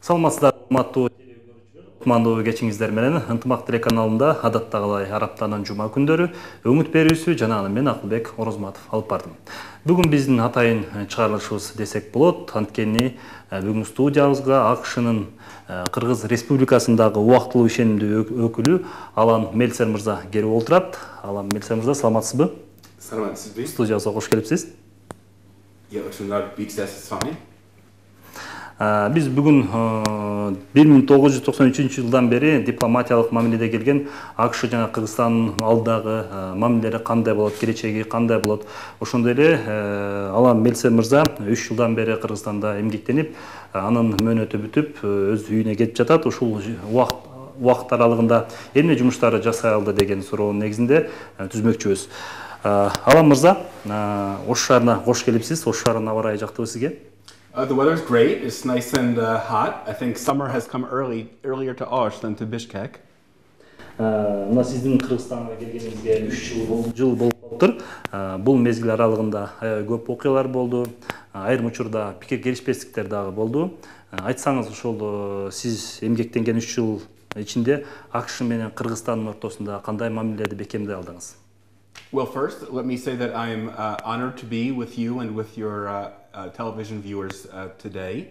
Саламатсыздар, урматтуу кутмандуу кечиңиздер менен Ынтымак телеканалында адаттагылай араптанын жума күндөрү өңүт берүүсү жана аны мен Акылбек Орозматов алып бардым. Бүгүн биздин атайын чыгарылышыбыз десек болот. Анткени бүгүн студиябызга АКШнын Кыргыз Республикасындагы убактылуу ишенимдүү өкүлү Алан Мельцер мырза келип отурат. Алан Мельцер мырза, саламатсызбы? Саламатсызбы. Студиябызга кош келипсиз. Биз бүгүн 1993-жылдан бери дипломатиялык мамиледе келген АКШ жана Кыргызстандын алдагы мамилелери кандай болот, келечеги кандай болот. Ошондой эле Алан Мельцер мырза 3 жылдан бери Кыргызстанда эмгектенип, анын мөөнөтү бүтүп, өз үйүнө кетип жатат. Ушул убакыт аралыгында эмне жумуштарды жасай алды деген суроонун негизинде түзмөкчүбүз. Алан мырза, Ош шаарына кош келипсиз. Ош шаарынын аба ырайы жактыбы сизге? The weather's great. It's nice and hot. I think summer has come earlier to Osh than to Bishkek. Мына сиздин Кыргызстанга келгениңизге 3 жыл болуп атыр. Бул мезгил аралыгында көп окуялар болду. Айрым учурда пикир келишпестиктер дагы болду. Айтсаңыз, ошол сиз эмгектенген 3 жыл ичинде АКШ менен Кыргызстандын ортосунда кандай мамилелерди бекемдей алдыңыз? Well, first, let me say that I'm honored to be with you and with your television viewers today.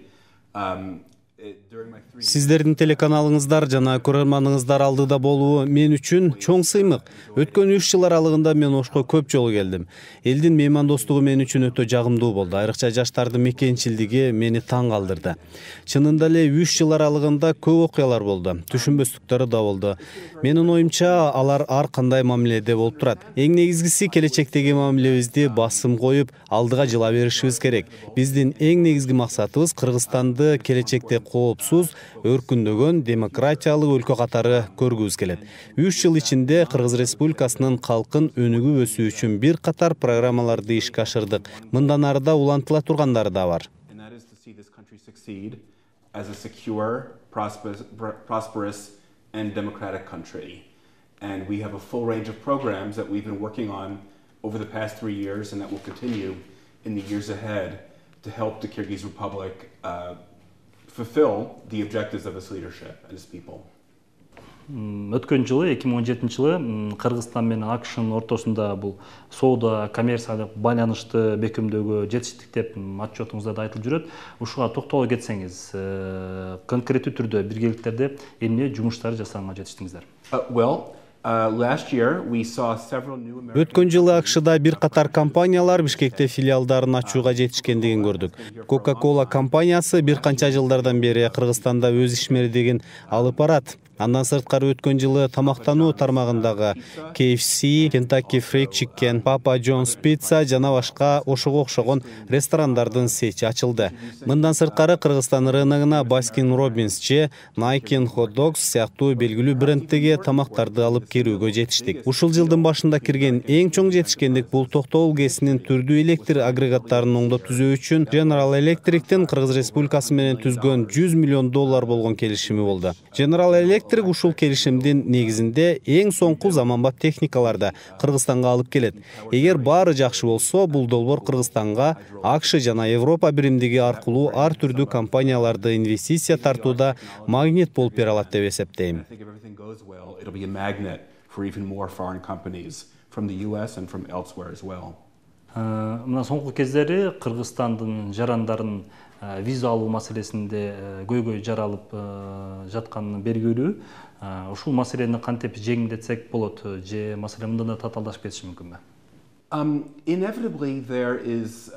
Сиздердин телеканалыңыздар жана көрөрманыңыздар алдыда болуу мен үчүн чоң сыймык. Өткөн 3 жыл аралыгында мен Ошко көп жолу келдим. Элдин меймандостугу мен үчүн өтө жагымдуу болду. Айрыкча жаштардын мекенчилдиги мени таң калтырды. Чынында эле 3 жыл аралыгында көп окуялар болду. Түшүнбөстүктөр да болду. Менин оюмча, алар ар кандай мамиледе болуп турат. Эң негизгиси келечектеги мамилебизди басым коюп, алдыга жыла беришибиз керек. Биздин эң негизги максатыбыз Кыргызстанды келечекте коопсуз, өркүндөгөн, демократиялык өлкө катары көргүбүз келет. 3 жыл ичинде Кыргыз Республикасынын калкын өнүгүп өсүү үчүн бир катар программаларды ишке ашырдык. Мындан ары да улантыла тургандары да бар. As a secure, prosperous, and democratic country. And we have a full range of programs that we've been working on over the past 3 years and that will continue in the years ahead to help the Kyrgyz Republic fulfill the objectives of its leadership and its people. Өткөн жылы 2017-жылы Кыргызстан менен АКШнын ортосунда бул соода, коммерциялык байланышты бекемдөөгө жетиштик деп отчетуңузда да айтылып жүрөт. Ушуга токтоло кетсеңиз, конкреттүү түрдө биргеликтерде эмне жумуштар жасаганга жетиштиңиздер? Өткөн жылы АКШда бир катар компаниялар Бишкекте филиалдарын ачууга жетишкендигин көрдүк. Coca-Cola компаниясы бир канча жылдардан бери Кыргызстанда өз ишмердигин алып барат. Андан сырткары өткөн жылы тамактануу тармагындагы KFC, Kentucky Fried Chicken, Papa John's Pizza жана башка ошого окшогон ресторандардын сети ачылды. Мындан сырткары Кыргызстан рыногуна Baskin Robbins же Nike Hot Dogs сыяктуу белгилүү бренддеги тамактарды алып кирүүгө жетиштик. Ушул жылдын башында кирген эң чоң жетишкендик бул токтогул ГЭСинин түрдүү электр агрегаттарын оңдоп түзөө үчүн General Electric'тин Кыргыз Республикасы менен түзгөн $100 миллион болгон келишими болду. General Electric ушул келишимдин негизинде эң соңку заманбап техникаларды Кыргызстанга алып келет. Эгер баары жакшы болсо, бул долбоор Кыргызстанга АКШ жана Европа биримдиги аркылуу ар түрдүү компанияларды инвестиция тартууда магнит болуп бере алат деп эсептейм. Мына соңку кездери Кыргызстандын жарандарын виза алуу маселесинде көйгөй жаралып жатканы белгилүү. Ушул маселени кантип жеңилдетсек болот же маселе мындан да татаалдашып кетиши мүмкүнбү? Inevitably there is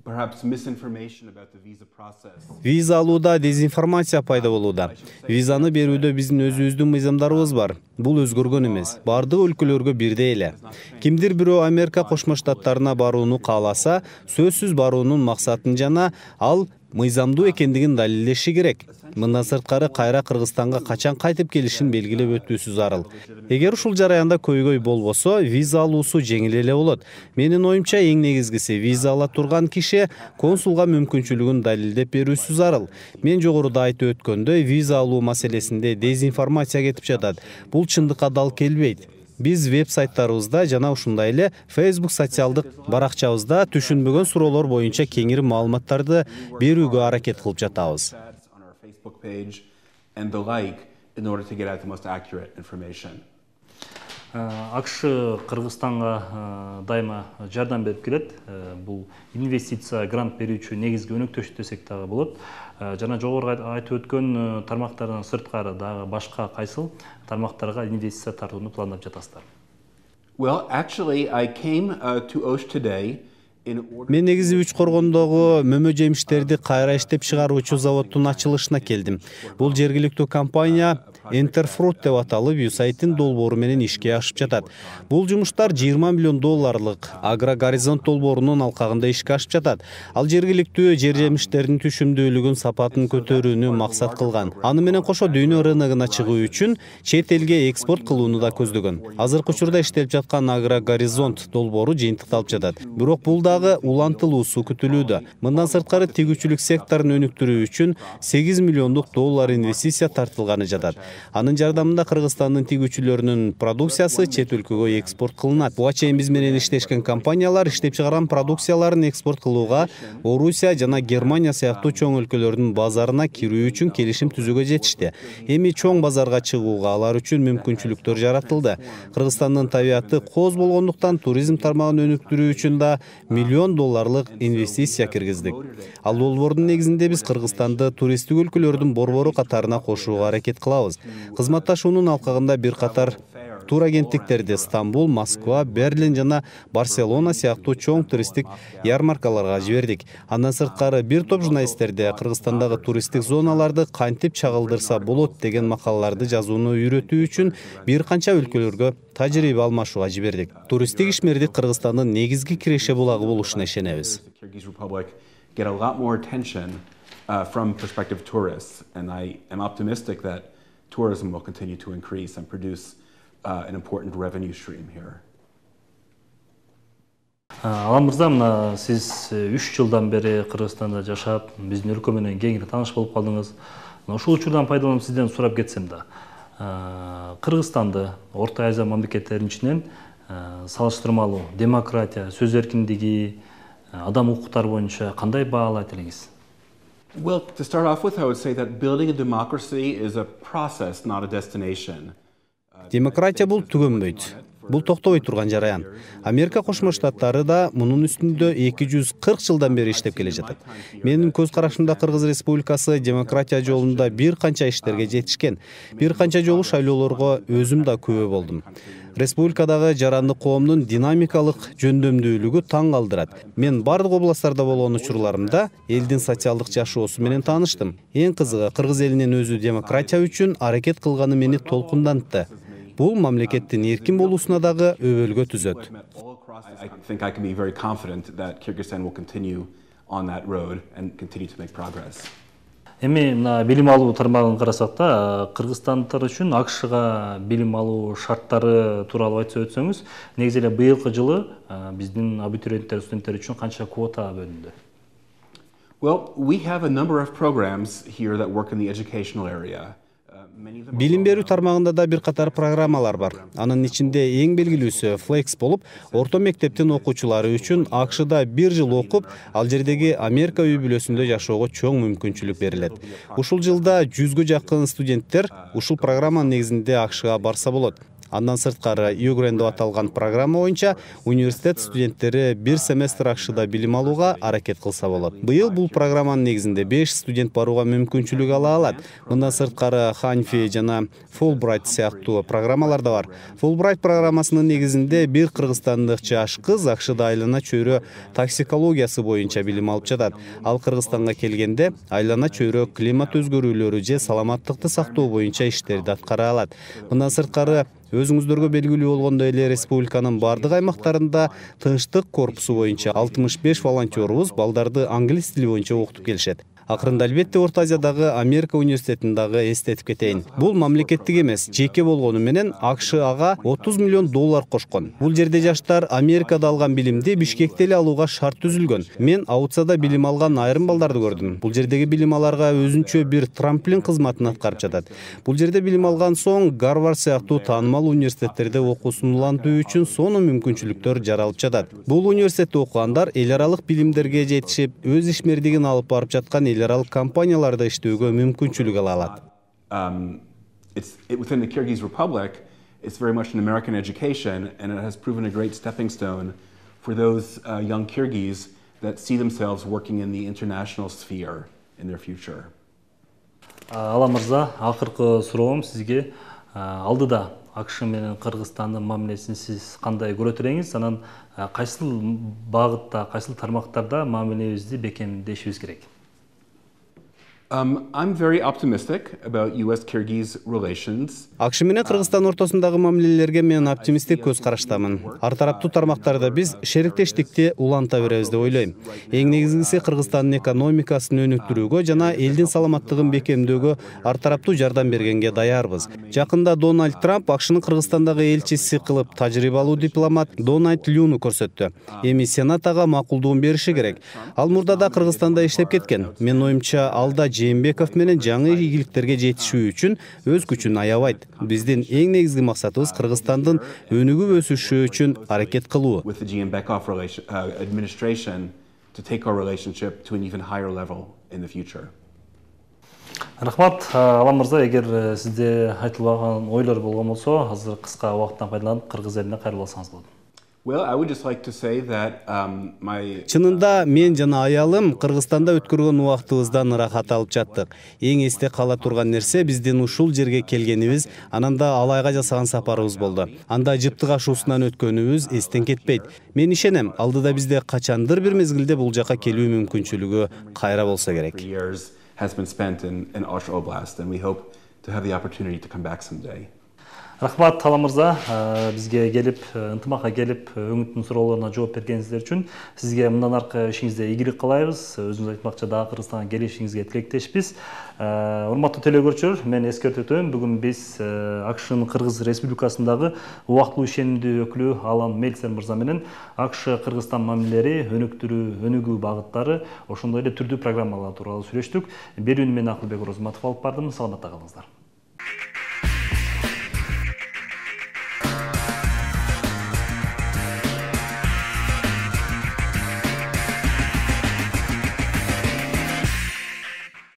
perhaps misinformation about the visa process. Виза алууда дезинформация пайда болууда. Визаны берүүдө биздин өзүбүздүн мыйзамдарыбыз бар. Бул өзгөргөн эмес. Бардык өлкөлөргө бирдей эле. Кимдир бирөө Америка Кошмо Штаттарына барууну кааласа, сөзсүз баруунун максатын жана ал мыйзамдуу экендигин далилдеши керек. Мындан сырткары кайра Кыргызстанга качан кайтып келишин белгилеп өтүүсү зарыл. Эгер ушул жараянда көйгөй болбосо, виза алуусу жеңил эле болот. Менин оюмча эң негизгиси виза ала турган киши консулга мүмкүнчүлүгүн далилдеп берүүсү зарыл. Мен жогоруда айтып өткөндөй, виза алуу маселесинде дезинформация кетип жатат. Бул чындыкка дал келбейт. Биз веб-сайттарыбызда жана ушундай эле Facebook социалдык баракчабызда түшүнбөгөн суроолор боюнча кеңири маалыматтарды берүүгө аракет кылып жатабыз. page, and the like, in order to get at the most accurate information. АКШ Кыргызстанга дайыма жардам берип келет. Бул инвестиция, грант берүүчү негизги өнөктөш десек дагы болот. Жана жогору айтып өткөн тармактардан сырткары дагы башка кайсыл тармактарга инвестиция тартууну пландап жатасыздар? Well, actually, I came to Osh today. Мен негизи Үч Коргондогу мөмө жемиштерди кайра иштеп чыгаруучу заводдун ачылышына келдим. Бул жергиликтүү компания Enterfruit деп аталып, USAID-тин долбоору менен ишке ашып жатат. Бул жумуштар $20 миллион Агрогоризонт долбоорунун алкагында ишке ашып жатат. Ал жергиликтүү жер жемиштердин түшүмдүүлүгүн, сапатын көтөрүүнү максат кылган. Аны менен кошо дүйнө рыногуна чыгуу үчүн чет элге экспорт кылууну да көздөгөн. Азыркы учурда иштелип жаткан Агрогоризонт долбоору жыйынтыкталып жатат. Бирок бул дагы улантылуусу күтүлүүдө. Мындан сырткары тигүүчүлүк секторун өнүктүрүү үчүн $8 миллиондук инвестиция тартылганы жатат. Анын жардамында Кыргызстандын тигүүчүлөрүнүн продукциясы чет өлкөгө экспорт кылынат. Буга чейин биз менен иштешкен компаниялар иштеп чыгарган продукцияларын экспорт кылууга Орусия жана Германия сыяктуу чоң өлкөлөрдүн базарына кирүү үчүн келишим түзүүгө жетишти. Эми чоң базарга чыгууга алар үчүн мүмкүнчүлүктөр жаратылды. Кыргызстандын табияты кооз болгондуктан туризм тармагын өнүктүрүү үчүн да $1 миллион инвестиция киргиздик. Ал долбоордун негизинде биз Кыргызстанды туристтик өлкөлөрдүн борбору катарына кошууга аракет кылабыз. Кызматташуунун алкагында бир катар тур агенттиктерди Стамбул, Москва, Берлин жана Барселона сыяктуу чоң туристтик ярмаркаларга жибердик. Андан сырткары бир топ журналисттерди Кыргызстандагы туристтик зоналарды кантип чагылдырса болот деген макалаларды жазууну үйрөтүү үчүн бир канча өлкөлөргө тажрыйба алмашууга жибердик. Туристтик ишмердик Кыргызстандын негизги киреше булагы болушуна ишенебиз. Get a lot more attention from prospective tourists, and I am optimistic that tourism will continue to increase and produce an important revenue stream here. Алан мырза, мына сиз 3 жылдан бери Кыргызстанда жашап, биздин өлкө менен кеңири тааныш болуп калдыңыз. Ушул учурдан пайдаланып сизден сурап кетсем да, Кыргызстанды Орто Азия мамлекеттеринин ичинен салыштырмалуу демократия, сөз эркиндиги, адам укуктары боюнча кандай баалайт элеңиз? Well, to start off with, I would say that building a democracy is a process, not a destination. Демократия бул түгөнбөйт. Бул токтобой турган жараян. Америка Кошмо Штаттары да мунун үстүндө 240 жылдан бери иштеп келе жатат. Менин көз карашымда Кыргыз Республикасы демократия жолунда бир канча иштерге жетишкен. Бир канча жолу шайлоолорго өзүм да күбө болдум. Республикадагы жарандык коомдун динамикалык жөндөмдүүлүгү таң калтырат. Мен бардык областтарда болгон учурларымда элдин социалдык жашоосу менен тааныштым. Эң кызыгы, кыргыз элинин өзү демократия үчүн аракет кылганы мени толкундантты. Бул мамлекеттин эркин болуусуна дагы өбөлгө түзөт. I think I can be very confident that Kyrgyzstan will continue on that road and continue to make progress. Эми мына билим алуу тармагын карасак да, кыргызстандыктар үчүн АКШга билим алуу шарттары тууралуу айтып өтсөңүз, негизи эле быйылкы жылы биздин абитуриенттер, студенттер үчүн канча квота бөлүндү? Well, we have a number of programs here that work in the educational area. Билим берүү тармагында да бир катар программалар бар. Анын ичинде эң белгилүүсү Flex болуп, орто мектептин окуучулары үчүн АКШда 1 жыл окуп, ал жердеги Америка үй бүлөсүндө жашоого чоң мүмкүнчүлүк берилет. Ушул жылда 100гө жакын студенттер ушул программанын негизинде АКШга барса болот. Андан сырткары Югрен деп аталган программа боюнча университет студенттери 1 семестр АКШда билим алууга аракет кылса болот. Быйыл бул программанын негизинде 5 студент барууга мүмкүнчүлүк ала алат. Мындан сырткары Ханфи жана Fulbright сыяктуу программалар да бар. Fulbright программасынын негизинде бир кыргызстандык жаш кыз АКШда айлана чөйрө токсикологиясы боюнча билим алып жатат. Ал Кыргызстанга келгенде айлана чөйрө климат өзгөрүүлөрү же саламаттыкты сактоо боюнча иштерди аткара алат. Мындан сырткары өзүңүздөргө белгилүү болгондой эле республиканын бардык аймактарында тынчтык корпусу боюнча 65 волонтерубуз балдарды англис тили боюнча окутуп келишет. Акырында албетте Орто Азиядагы Америка университетин дагы эстетип кетейин. Бул мамлекеттик эмес, жеке болгону менен АКШ ага $30 миллион кошкон. Бул жерде жаштар Америкада алган билимди Бишкекте эле алууга шарт түзүлгөн. Мен Аутсада билим алган айрым балдарды көрдүм. Бул жердеги билим аларга өзүнчө бир трамплин кызматын аткарып жатат. Бул жерде билим алган соң Гарвард сыяктуу таанымал университеттерде окуусун улантуу үчүн сонун мүмкүнчүлүктөр жаралып жатат. Бул университетте окугандар эл аралык билимдерге жетишип, өз ишмердигин алып барып жаткан эл аралык компанияларда иштөөгө мүмкүнчүлүк ала алат. Within the Kyrgyz Republic, it's very much an American education, and it has proven a great stepping stone for those young Kyrgyz that see themselves working in the international sphere in their future. Алан мырза, акыркы суроом сизге алдыда АКШ менен Кыргызстандын мамилесин сиз кандай көрөт элеңиз? Анан кайсыл багытта, кайсыл тармактарда мамилебизди бекемдешибиз керек? I'm very optimistic about US-Kyrgyz relations. АКШ менен Кыргызстан ортосундагы мамилелерге мен оптимисттик көз караштамын. Ар тараптуу тармактарда биз шериктештикти уланта беребиз деп ойлойм. Эң негизгиси Кыргызстандын экономикасын өнүктүрүүгө жана элдин саламаттыгын бекемдөөгө ар тараптуу жардам бергенге даярбыз. Жакында Дональд Трамп АКШнын Кыргызстандагы элчиси кылып тажрыйбалуу дипломат Дональд Люну көрсөттү. Эми Сенат ага макулдугун бериши керек. Ал мурда да Кыргызстанда иштеп кеткен. Менин оюмча, алда Жээнбеков менен жаңы ийгиликтерге жетишүү үчүн өз күчүн аябайт. Биздин эң негизги максатыбыз Кыргызстандын өнүгүп өсүшү үчүн аракет кылуу. With the Jeenbekov administration to take our relationship to an even higher level in the future. Рахмат, Алан мырза, эгер сизде айтылбаган ойлор болгон болсо, азыр кыска убакыттан пайдаланып кыргыз элине кайрылып алсаңыз болот. Well, I would just like to say that Чынында мен жана аялым Кыргызстанда өткөргөн убактыбыздан ырахат алып жаттык. Эң эсте кала турган нерсе биздин ушул жерге келгенибиз, анан да Алайга жасаган сапарыбыз болду. Анда жыптык ашуусунан өткөнүбүз эстен кетпейт. Мен ишенем, алдыда бизде качандыр бир мезгилде бул жака келүү мүмкүнчүлүгү кайра болсо керек. Has been spent in Osh Oblast, and we hope to have the opportunity to come back someday. Рахмат, Алан мырза, бизге келип, ынтымакка келип, өңүттүн суроолоруна жооп бергениңиздер үчүн сизге мындан аркы ишиңизде ийгилик каалайбыз. Өзүңүз айтмакчы, дагы Кыргызстанга келишиңизге тилектешпиз. Урматтуу телекөрүүчүлөр, мен эскертип өтөм, бүгүн биз АКШнын Кыргыз Республикасындагы убактылуу ишенимдүү өкүлү Алан Мельцер мырза менен АКШ Кыргызстан мамилелери, өнүгүү багыттары, ошондой эле түрдүү программалар тууралуу сүйлөштүк. Берүүнү мен Акылбек Орозматов алып бардым. Саламатта калыңыздар.